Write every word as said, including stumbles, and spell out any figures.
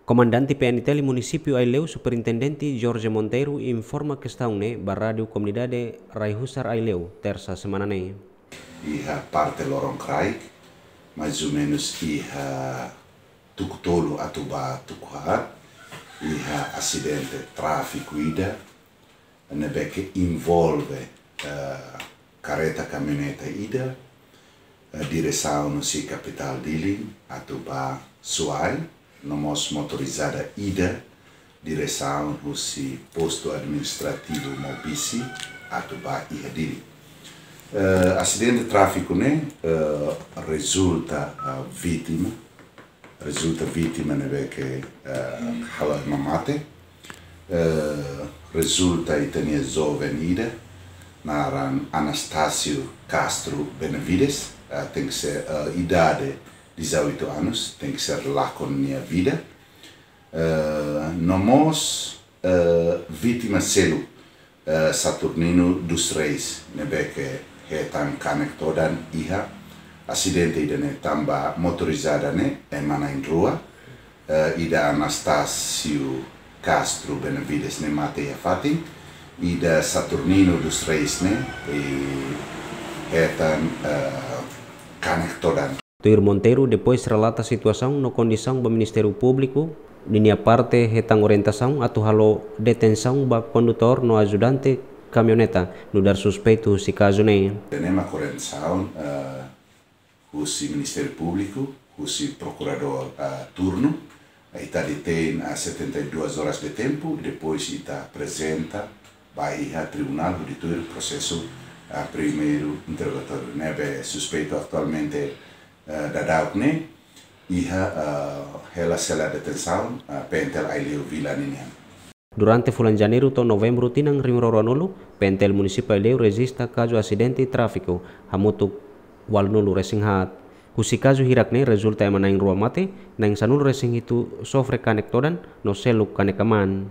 Komandante P N T L Munisípiu Aileu, Superintendente Jorge Monteiro, informa kestaun ne'e ba Rádiu Komunidade Rai Husar Aileu, Tersa semana ne'e. Iha parte loron kraik, mais ou menus iha tuku tolu atu ba tuku haat, iha asidente tráfiku ida, ne'ebé ke envolve, eh, karreta kamioneta ida, eh, diresaun husi kapitál Dili atu ba Suai, no mós motorizada ida diresaun husi postu administrativu Maubisse atu ba iha Dili. Eh, asidente tráfiku ne'e, eh, rezulta, eh, vítima, rezulta vítima ne'ebé ke, eh, halo ema mate, eh, rezulta ita-nia joven ida, naran Anastácio Castro Benavides, eh, tenke ser, eh, idade dezoito anos, tenke ser lakon nia vida. Eh, no mós, eh, vítima seluk, eh, Saturnino dos Reis, ne'ebé ke hetan kanek todan iha asidente ida-ne'e tanba motorizada ne'e ema na'in-rua, eh, ida Anastácio Castro Benavides ne'e mate iha fatin, ida Saturnino dos Reis ne'e, eh, hetan, eh, kanek todan. Tuir Monteiro, depois relata situasaun no kondisaun ba Ministériu Públiku, ninia parte hetan orientasaun atu halo detensaun ba kondutór no ajudante kamioneta nu'udar suspeitu husi kazu ne'e. Tenke mak orientasaun, eh, husi Ministériu Públiku, husi prokuradór, eh, turnu, ita detein, eh, setenta e duas horas de tempu, depois ita aprezenta ba iha tribunál hodi tuir prosesu, eh, primeiru interrogatóriu. Ne'ebé suspeitu atualmente, eh, daudaun ne'e iha, eh, hela sela detensaun, eh, P N T L Aileu Vila ninian. Durante fulan Janeiru to'o Novembru tinan rihun rua ruanulu, P N T L Munisípiu Aileu rejista kazu asidente tráfiku hamutuk ualunulu-resin-haat. Husi kazu hirak ne'e rezulta ema na'in-rua mate, na'in-sanulu-resin-hitu sofre kanek todan, no seluk kanek aman.